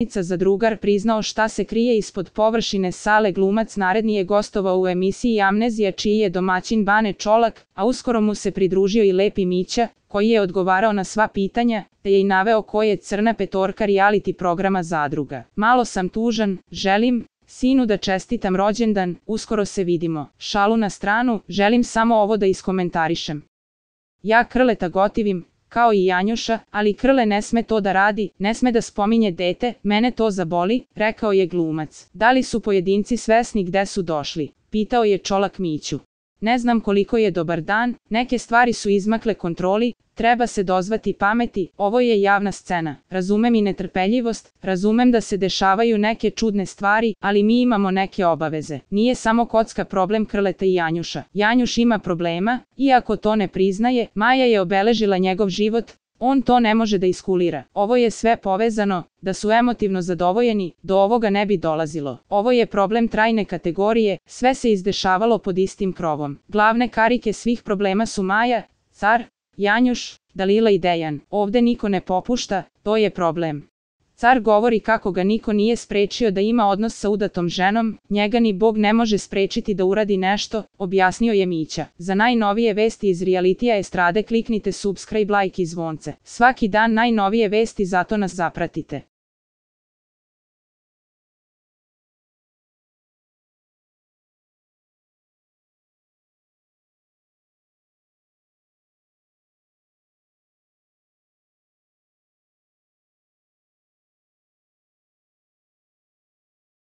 za drugar priznao šta se krije ispod površine sale. Glumac naredni je gostovao u emisiji Amnezija čiji je domaćin Bane Čolak, a uskoro mu se pridružio i Lepi Mića, koji je odgovarao na sva pitanja, te je i naveo ko je Crna petorka reality programa Zadruga. Malo sam tužan, želim sinu da čestitam rođendan, uskoro se vidimo. Šalu na stranu, želim samo ovo da iskomentarišem. Ja Krleta gotivim, kao i Janjuša, ali Krle ne sme to da radi, ne sme da spominje dete, mene to zaboli, rekao je glumac. Da li su pojedinci svesni gde su došli? Pitao je Čolak Miću. Ne znam koliko je dobar dan, neke stvari su izmakle kontroli, treba se dozvati pameti, ovo je javna scena. Razumem i netrpeljivost, razumem da se dešavaju neke čudne stvari, ali mi imamo neke obaveze. Nije samo kocka problem Krleta i Janjuša. Janjuš ima problema, iako to ne priznaje, Maja je obeležila njegov život, on to ne može da iskulira. Ovo je sve povezano, da su emotivno zadovoljeni, do ovoga ne bi dolazilo. Ovo je problem trajne kategorije, sve se izdešavalo pod istim krovom. Glavne karike svih problema su Maja, Car, Janjuš, Dalila i Dejan. Ovde niko ne popušta, to je problem. Car govori kako ga niko nije sprečio da ima odnos sa udatom ženom, njega ni Bog ne može sprečiti da uradi nešto, objasnio je Mića. Za najnovije vesti iz realitija estrade kliknite subscribe, like i zvonce. Svaki dan najnovije vesti, zato nas zapratite.